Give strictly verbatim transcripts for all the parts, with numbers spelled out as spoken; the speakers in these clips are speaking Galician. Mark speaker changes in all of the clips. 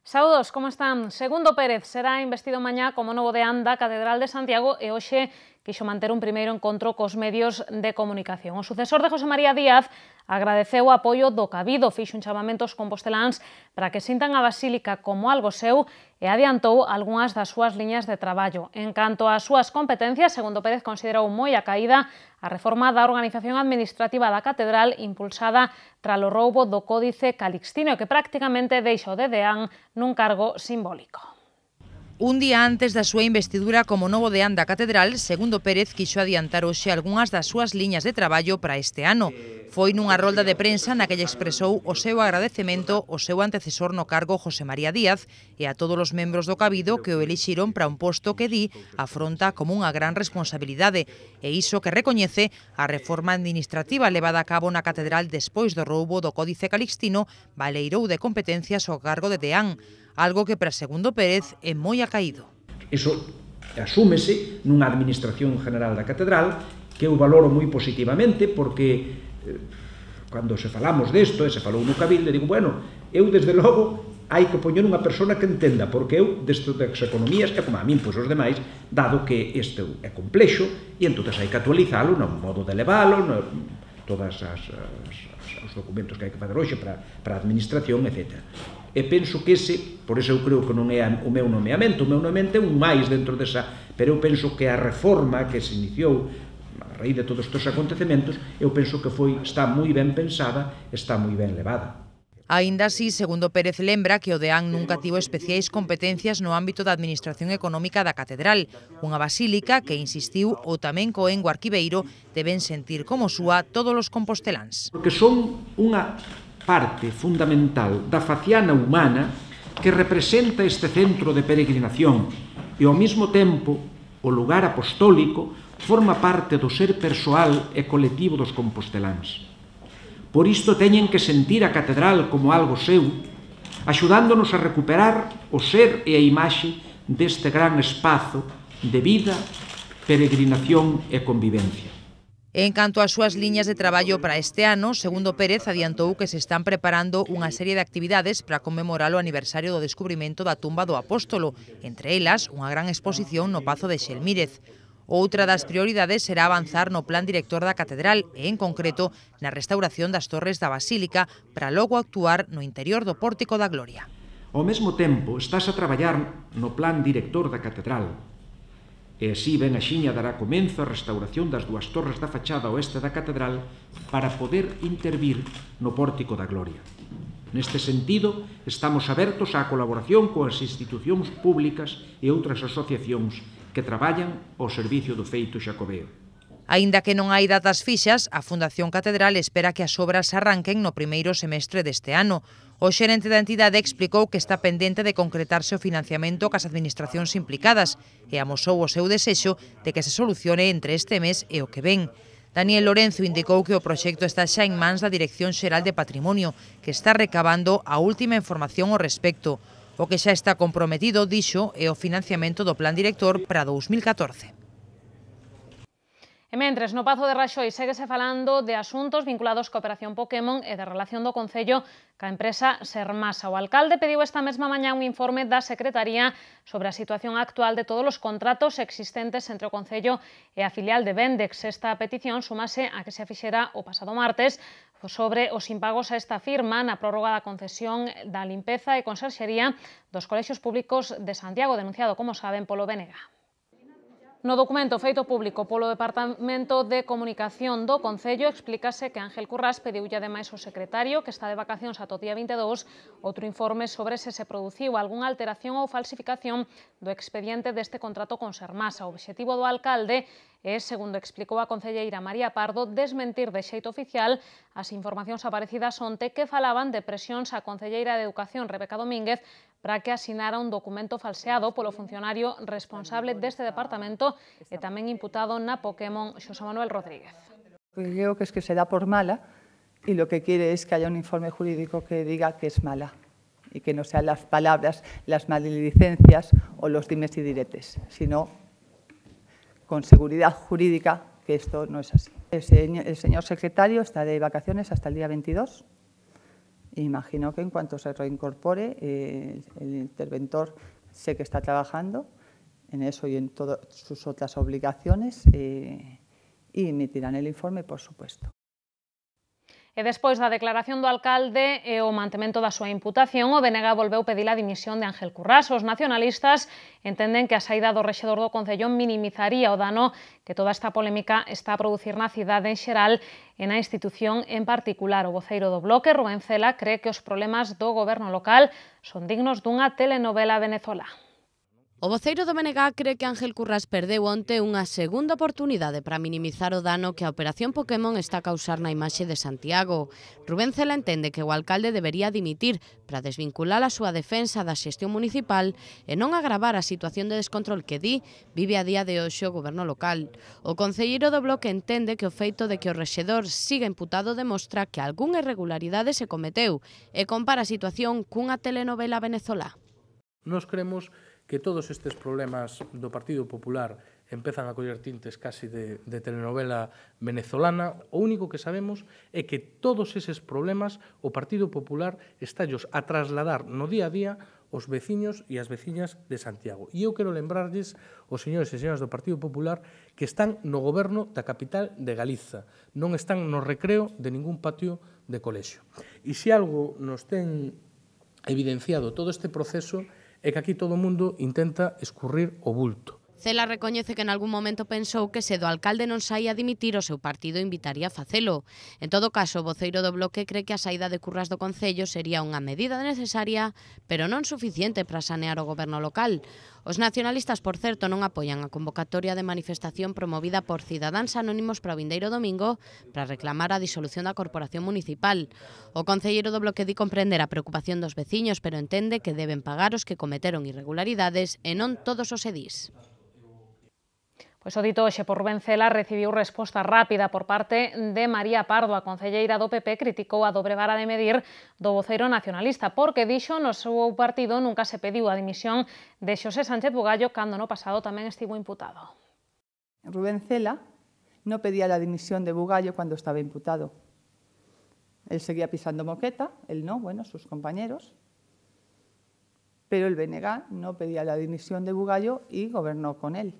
Speaker 1: Saúdos, como están? Segundo Pérez será investido mañá como novo deán da Catedral de Santiago e hoxe quixo manter un primeiro encontro cos medios de comunicación. O sucesor de José María Díaz agradeceu o apoio do Cabido, fixo un chamamento aos composteláns para que sintan a Basílica como algo seu e adiantou algunhas das súas liñas de traballo. En canto ás súas competencias, segundo Pérez considerou moi a caída a reforma da organización administrativa da Catedral impulsada tralo roubo do Códice Calixtino, que prácticamente deixa o de deán nun cargo simbólico.
Speaker 2: Un día antes da súa investidura como novo deán da Catedral, segundo Pérez quixo adiantar hoxe algunhas das súas liñas de traballo para este ano. Foi nunha rolda de prensa na que lle expresou o seu agradecemento ao seu antecesor no cargo José María Díaz e a todos os membros do Cabido que o elixiron para un posto que di afronta como unha gran responsabilidade e iso que recoñece a reforma administrativa levada a cabo na Catedral despois do roubo do Códice Calixtino baleirou de competencias ao cargo de deán, algo que para segundo Pérez é moi acaído.
Speaker 3: Iso asúmese nunha administración general da Catedral que eu valoro moi positivamente porque eh, cando se falamos desto e se falou no Cabildo, digo, bueno, eu desde logo hai que poñer unha persona que entenda, porque eu desto das economías é como a min, pois os demais, dado que isto é complexo e entón hai que actualizalo no modo de levalo, no, todas as, as, os documentos que hai que fazer hoxe para, para a administración, etcétera. E penso que ese, por iso eu creo que non é o meu nomeamento, o meu nomeamento é un máis dentro desa, pero eu penso que a reforma que se iniciou a raíz de todos estes acontecementos, eu penso que foi, está moi ben pensada, está moi ben levada.
Speaker 2: Aínda así, segundo Pérez lembra que o deán nunca tivo especiais competencias no ámbito da administración económica da Catedral, unha basílica que, insistiu, o tamén coengo arquiveiro deben sentir como súa todos os composteláns.
Speaker 3: Porque son unha parte fundamental da faciana humana que representa este centro de peregrinación e ao mesmo tempo o lugar apostólico forma parte do ser persoal e colectivo dos composteláns. Por isto teñen que sentir a Catedral como algo seu, axudándonos a recuperar o ser e a imaxe deste gran espazo de vida, peregrinación e convivencia.
Speaker 2: En canto ás súas liñas de traballo para este ano, segundo Pérez adiantou que se están preparando unha serie de actividades para conmemorar o aniversario do descubrimento da tumba do Apóstolo, entre elas unha gran exposición no Pazo de Xelmírez. Outra das prioridades será avanzar no plan director da Catedral e, en concreto, na restauración das torres da Basílica para logo actuar no interior do Pórtico da Gloria.
Speaker 3: Ao mesmo tempo, estás a traballar no plan director da Catedral e así ben axiña dará comenzo a restauración das dúas torres da fachada oeste da Catedral para poder intervir no Pórtico da Gloria. Neste sentido, estamos abertos á colaboración coas institucións públicas e outras asociacións que traballan ao servicio do feito xacobeo.
Speaker 2: Aínda que non hai datas fixas, a Fundación Catedral espera que as obras arranquen no primeiro semestre deste ano. O xerente da entidade explicou que está pendente de concretarse o financiamento cas administracións implicadas e amosou o seu desexo de que se solucione entre este mes e o que ven. Daniel Lorenzo indicou que o proxecto está xa en mans da Dirección Xeral de Patrimonio, que está recabando a última información ao respecto. O que xa está comprometido, dixo, é o financiamento do Plan Director para dous mil catorce.
Speaker 1: E mentres, no Pazo de Raxoi séguese falando de asuntos vinculados coa Operación Pokémon e de relación do Concello ca empresa Sermasa. O alcalde pediu esta mesma mañá un informe da Secretaría sobre a situación actual de todos os contratos existentes entre o Concello e a filial de Vendex. Esta petición sumase a que se fixera o pasado martes sobre os impagos a esta firma na prórroga da concesión da limpeza e conserxería dos colexios públicos de Santiago, denunciado, como saben, polo B N G. No documento feito público polo Departamento de Comunicación do Concello explícase que Ángel Currás pediulle ademais ao secretario, que está de vacacións ata o día vinte e dous, outro informe sobre se se produciu algunha alteración ou falsificación do expediente deste contrato con Sermasa. O obxectivo do alcalde é, segundo explicou a concelleira María Pardo, desmentir de xeito oficial as informacións aparecidas onte que falaban de presións á concelleira de Educación, Rebeca Domínguez, para que asinara un documento falseado polo funcionario responsable deste departamento e tamén imputado na Pokémon, Xosé Manuel Rodríguez.
Speaker 4: Creo que es que se da por mala y lo que quiere es que haya un informe jurídico que diga que es mala y que no sean las palabras, las maledicencias o los dimes y diretes, sino con seguridad jurídica que esto no es así. El señor, el señor secretario está de vacaciones hasta el día veintidós E imagino que en cuanto se reincorpore, eh, el interventor sé que está trabajando en eso y en todas sus otras obligaciones eh, y emitirán el informe, por supuesto.
Speaker 1: E despois da declaración do alcalde e o mantemento da súa imputación, o B N G volveu pedir a dimisión de Ángel Currás. Os nacionalistas entenden que a saída do rexedor do Concello minimizaría o dano que toda esta polémica está a producir na cidade en xeral e na institución en particular. O voceiro do Bloque, Rubén Cela, cree que os problemas do goberno local son dignos dunha telenovela venezolá.
Speaker 5: O voceiro do B N G cree que Ángel Currás perdeu onte unha segunda oportunidade para minimizar o dano que a Operación Pokémon está a causar na imaxe de Santiago. Rubén Cela entende que o alcalde debería dimitir para desvincular a súa defensa da xestión municipal e non agravar a situación de descontrol que di vive a día de hoxe o goberno local. O concelleiro do Bloque entende que o feito de que o rexedor siga imputado demostra que algunha irregularidade se cometeu e compara a situación cunha telenovela venezolá.
Speaker 6: Nos creemos que todos estes problemas do Partido Popular empezan a coller tintes casi de, de telenovela venezolana. O único que sabemos é que todos eses problemas o Partido Popular estallos a trasladar no día a día os veciños e as veciñas de Santiago. E eu quero lembrarlles aos señores e señoras do Partido Popular que están no goberno da capital de Galiza, non están no recreo de ningún patio de colexio. E se algo nos ten evidenciado todo este proceso é que aquí todo o mundo intenta escurrir o bulto.
Speaker 5: Cela recoñece que en algún momento pensou que se do alcalde non saía a dimitir o seu partido invitaría a facelo. En todo caso, o voceiro do Bloque cree que a saída de Currás do Concello sería unha medida necesaria, pero non suficiente para sanear o goberno local. Os nacionalistas, por certo, non apoian a convocatoria de manifestación promovida por Cidadáns Anónimos para o vindeiro domingo para reclamar a disolución da corporación municipal. O concelleiro do Bloque di comprender a preocupación dos veciños, pero entende que deben pagar os que cometeron irregularidades e non todos os edís.
Speaker 1: Pois o dito hoxe por Rubén Cela recibiu resposta rápida por parte de María Pardo. A concelleira do P P criticou a dobre vara de medir do voceiro nacionalista porque dixo no seu partido nunca se pediu a dimisión de Xosé Sánchez Bugallo cando no pasado tamén estivo imputado.
Speaker 4: Rubén Cela no pedía la dimisión de Bugallo cuando estaba imputado. Él seguía pisando moqueta, él no, bueno, sus compañeros, pero el B N G no pedía la dimisión de Bugallo y gobernó con él.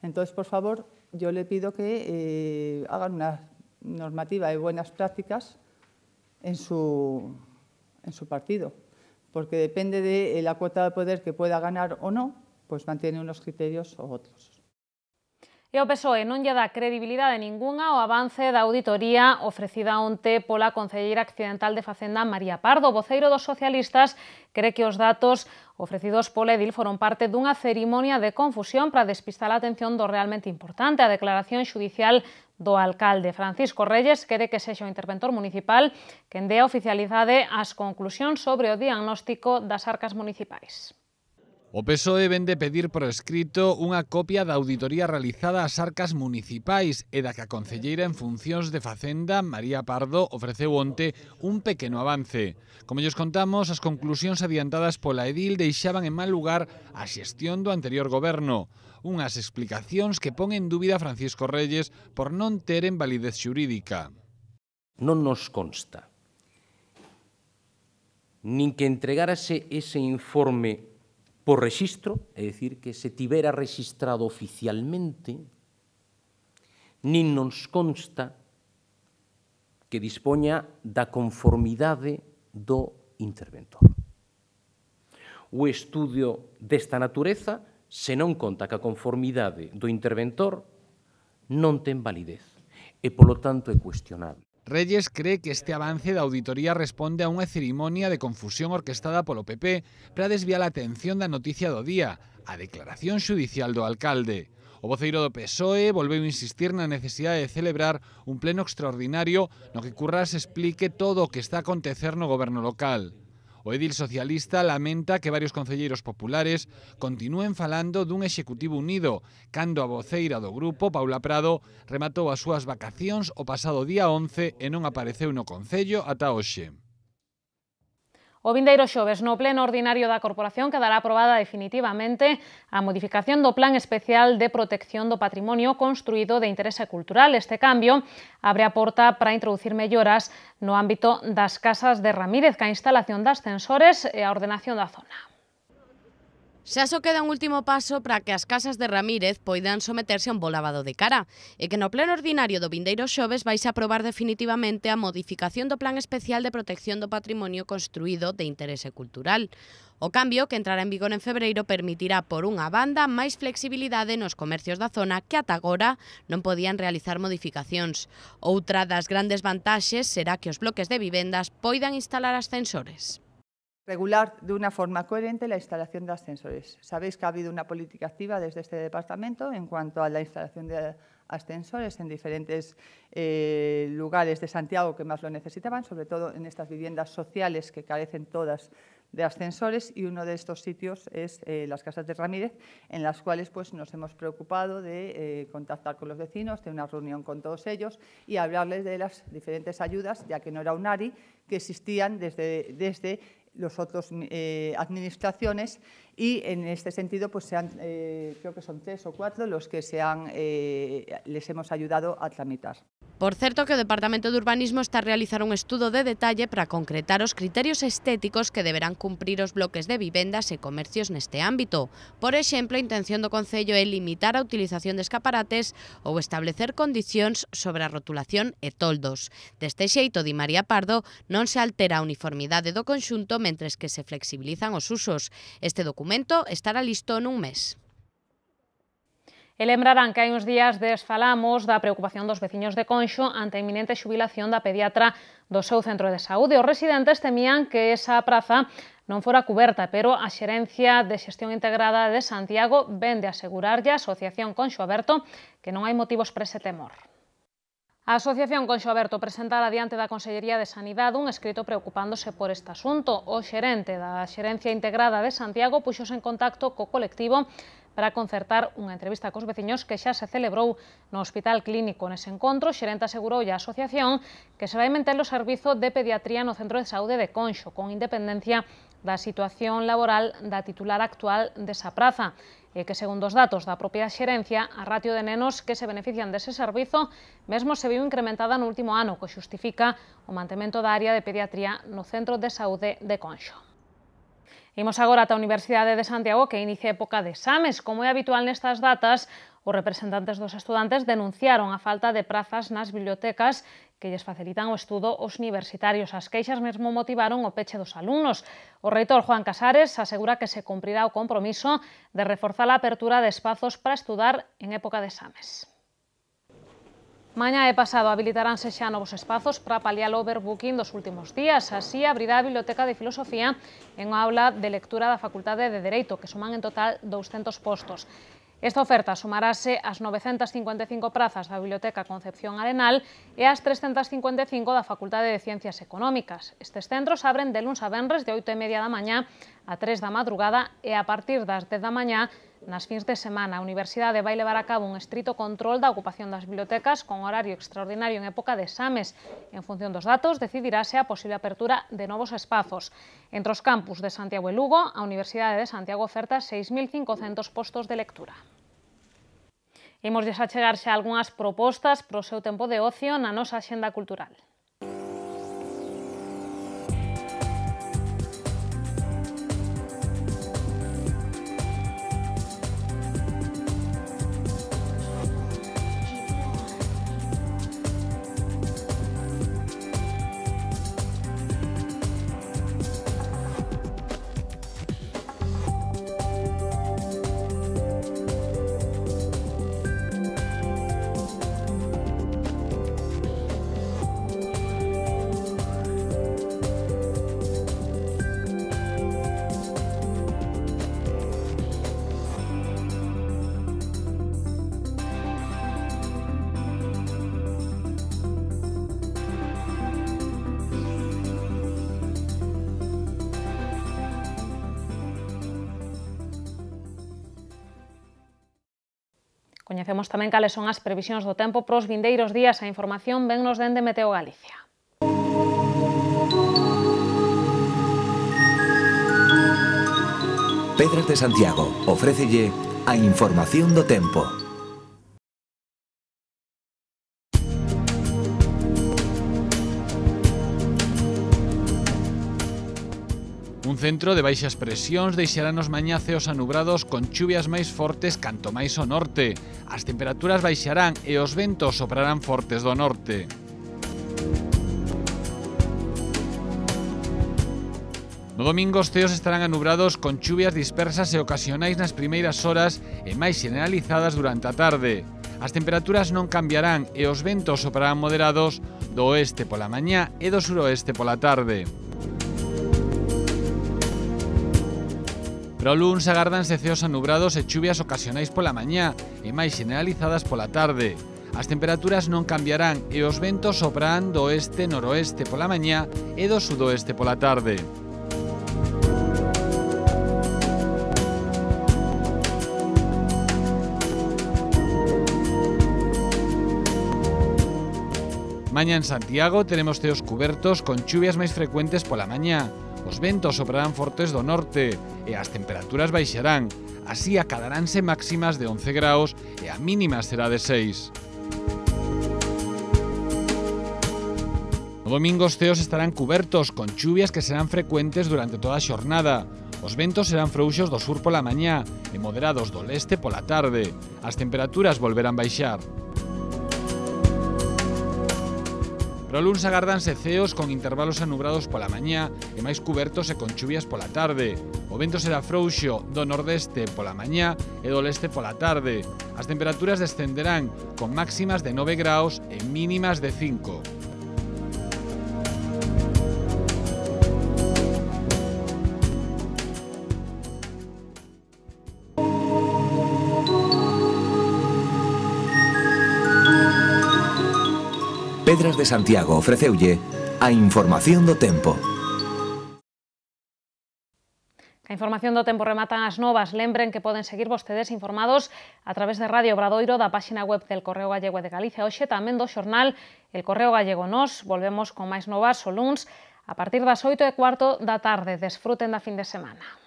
Speaker 4: Entonces, por favor, yo le pido que eh, hagan una normativa de buenas prácticas en su, en su partido, porque depende de la cuota de poder que pueda ganar o no, pues mantiene unos criterios o otros.
Speaker 1: E o P S O E non lle dá credibilidade ningunha ao avance da auditoría ofrecida onte pola concelleira accidental de Facenda María Pardo. O voceiro dos socialistas cree que os datos ofrecidos pola edil foron parte dunha cerimonia de confusión para despistar a atención do realmente importante, a declaración xudicial do alcalde. Francisco Reyes quere que sexa o interventor municipal quen dé a oficialidade ás conclusións sobre o diagnóstico das arcas municipais.
Speaker 7: O P S O E vende pedir por escrito unha copia da auditoría realizada ás arcas municipais e da que a concelleira en funcións de Facenda, María Pardo, ofreceu onte un pequeno avance. Como lles contamos, as conclusións adiantadas pola edil deixaban en mal lugar a xestión do anterior goberno. Unhas explicacións que pon en dúbida Francisco Reyes por non teren validez xurídica.
Speaker 8: Non nos consta nin que entregárase ese informe por rexistro, é dicir, que se tivera registrado oficialmente, nin nos consta que dispoña da conformidade do interventor. O estudio desta natureza, se non conta que a conformidade do interventor non ten validez e, polo tanto, é cuestionable.
Speaker 7: Reyes cree que este avance da auditoría responde a unha cerimonia de confusión orquestada polo P P para desviar a atención da noticia do día, a declaración xudicial do alcalde. O voceiro do P S O E volveu insistir na necesidade de celebrar un pleno extraordinario no que Currás explique todo o que está a acontecer no goberno local. O edil socialista lamenta que varios concelleiros populares continúen falando dun executivo unido, cando a voceira do grupo, Paula Prado, rematou as súas vacacións o pasado día once e non apareceu no Concello ata hoxe.
Speaker 1: O vindeiro xoves, no pleno ordinario da Corporación, quedará aprobada definitivamente a modificación do Plan Especial de Protección do Patrimonio Construído de Interese Cultural. Este cambio abre a porta para introducir melloras no ámbito das casas de Ramírez, ca instalación de ascensores e a ordenación da zona.
Speaker 5: Xa só queda un último paso para que as casas de Ramírez poidan someterse a un bo lavado de cara e que no pleno ordinario do vindeiro xoves vais a aprobar definitivamente a modificación do Plan Especial de Protección do Patrimonio Construído de Interese Cultural. O cambio, que entrará en vigor en febreiro, permitirá, por unha banda, máis flexibilidade nos comercios da zona que ata agora non podían realizar modificacións. Outra das grandes vantaxes será que os bloques de vivendas poidan instalar ascensores.
Speaker 4: Regular de una forma coherente la instalación de ascensores. Sabéis que ha habido una política activa desde este departamento en cuanto a la instalación de ascensores en diferentes eh, lugares de Santiago que más lo necesitaban, sobre todo en estas viviendas sociales que carecen todas de ascensores, y uno de estos sitios es eh, las casas de Ramírez, en las cuales pues, nos hemos preocupado de eh, contactar con los vecinos, de una reunión con todos ellos y hablarles de las diferentes ayudas, ya que no era un ARI, que existían desde, desde los otros eh, administraciones, y en este sentido pues se han, eh, creo que son tres o cuatro los que se han, eh, les hemos ayudado a tramitar.
Speaker 5: Por certo que o Departamento de Urbanismo está a realizar un estudo de detalle para concretar os criterios estéticos que deberán cumprir os bloques de vivendas e comercios neste ámbito. Por exemplo, a intención do Concello é limitar a utilización de escaparates ou establecer condicións sobre a rotulación e toldos. Deste xeito, di María Pardo, non se altera a uniformidade do conxunto mentres que se flexibilizan os usos. Este documento estará listo nun mes.
Speaker 1: E lembrarán que hai uns días desfalamos da preocupación dos veciños de Conxo ante a inminente xubilación da pediatra do seu centro de saúde. Os residentes temían que esa praza non fora cuberta, pero a Xerencia de Xestión Integrada de Santiago ven de asegurarlle a Asociación Conxo Aberto que non hai motivos para ese temor. A Asociación Conxo Aberto presentara diante da Consellería de Sanidade un escrito preocupándose por este asunto. O xerente da Xerencia Integrada de Santiago puxose en contacto co colectivo para concertar unha entrevista cos veciños que xa se celebrou no Hospital Clínico. Nese encontro, o xerente asegurou a asociación que se vai manter o servizo de pediatría no Centro de Saúde de Conxo, con independencia da situación laboral da titular actual desa praza, e que, segundo os datos da propia xerencia, a ratio de nenos que se benefician dese servizo mesmo se viu incrementada no último ano, que xustifica o mantemento da área de pediatría no Centro de Saúde de Conxo. Imos agora ata a Universidade de Santiago, que inicia época de exames. Como é habitual nestas datas, os representantes dos estudantes denunciaron a falta de prazas nas bibliotecas que lles facilitan o estudo aos universitarios. As queixas mesmo motivaron o peche dos alumnos. O reitor Juan Casares asegura que se cumprirá o compromiso de reforzar a apertura de espazos para estudar en época de exames. Mañá e pasado habilitaránse xa novos espazos para paliar o overbooking dos últimos días. Así, abrirá a Biblioteca de Filosofía en unha aula de lectura da Facultade de Dereito, que suman en total douscentos postos. Esta oferta sumarase ás novecentas cincuenta e cinco prazas da Biblioteca Concepción Arenal e ás trescentas cincuenta e cinco da Facultade de Ciencias Económicas. Estes centros abren de luns a venres de oito e media da mañá a tres da madrugada e a partir das dez da mañá nas fins de semana. A Universidade vai levar a cabo un estrito control da ocupación das bibliotecas con horario extraordinario en época de exames. En función dos datos, decidirase a posible apertura de novos espazos. Entre os campus de Santiago e Lugo, a Universidade de Santiago oferta seis mil cincocentos postos de lectura. Imos a chegar xa algunhas propostas para o seu tempo de ocio na nosa axenda cultural. Coñecemos tamén cales son as previsións do tempo para os vindeiros días. A información vennos dende Meteo Galicia.
Speaker 9: Pedras de Santiago ofrécelle a información do tempo.
Speaker 7: Un centro de baixas presións deixará nos mañá ceos anubrados con chuvias máis fortes canto máis ao norte. As temperaturas baixarán e os ventos soprarán fortes do norte. No domingo os ceos estarán anubrados con chuvias dispersas e ocasionais nas primeiras horas e máis generalizadas durante a tarde. As temperaturas non cambiarán e os ventos soprarán moderados do oeste pola mañá e do suroeste pola tarde. Para o luns agárdanse ceos anubrados e chuvias ocasionais pola mañá e máis generalizadas pola tarde. As temperaturas non cambiarán e os ventos soprarán do oeste-noroeste pola mañá e do sudoeste pola tarde. Mañá en Santiago teremos ceos cubertos con chuvias máis frecuentes pola mañá. Os ventos soprarán fortes do norte e as temperaturas baixarán. Así acadaránse máximas de once graus e a mínima será de seis. No domingo os ceos estarán cubertos con chuvias que serán frecuentes durante toda a xornada. Os ventos serán frouxos do sur pola mañá e moderados do leste pola tarde. As temperaturas volverán baixar. Para o luns agárdanse ceos con intervalos anubrados pola mañá e máis cubertos e con chuvias pola tarde. O vento será frouxo do nordeste pola mañá e do leste pola tarde. As temperaturas descenderán con máximas de nove graus e mínimas de cinco.
Speaker 9: Pedras de Santiago ofreceulle a información do tempo.
Speaker 1: A información do tempo rematan as novas. Lembren que poden seguir vostedes informados a través de Radio Obradoiro, da páxina web del Correo Gallego de Galicia, hoxe tamén do xornal El Correo Gallego. Nos volvemos con máis novas o luns a partir das oito e cuarto da tarde. Desfruten da fin de semana.